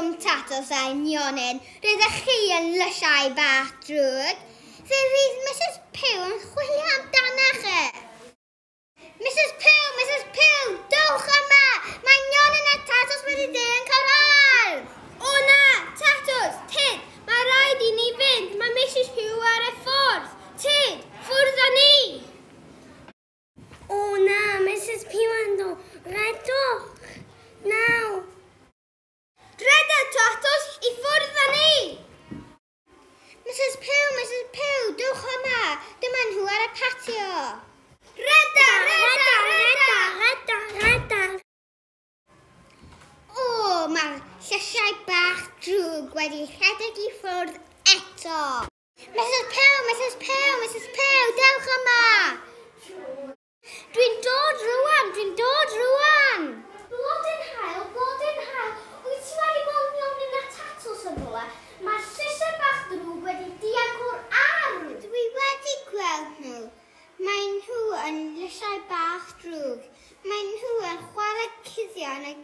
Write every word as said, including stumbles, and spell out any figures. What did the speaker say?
rhwng tatws a nionyn. Rydych chi yn lysiau bach drwg. Fe fydd Missus Pugh yn chwilio amdanoch chi. Missus Pugh, Missus Pugh, dowch yma! Mae nionyn a tatws wedi dilyn cyrraedd! O na, tatws, tyd, mae rhaid i ni fynd. Mae Missus Pugh ar y ffordd. Tyd, ffwrdd â ni! O na, Missus Pugh yn dod. Rhedwch! Naw! Rheda, tatws, i ffwrdd â ni! Missus Pugh, Missus Pugh, dowch yma! Dyma nhw ar y patio. Rheda, rheda, rheda! Rheda, rheda! O, mae'r llysiau bach drwg wedi rhedeg i ffwrdd eto. Missus Pugh, Missus Pugh, Missus Pugh, dewch yma! Dwi'n dod rŵan, dwi'n dod rŵan! Blodyn haul, blodyn haul, wyt ti wedi gweld nionyn a tatws yn rhywle? Mae'r llysiau bach drwg wedi dianc o'r ardd! Dwi wedi gweld nhw. Mae nhw yn lysiau bach drwg. Mae nhw yn chwarae cuddio yn y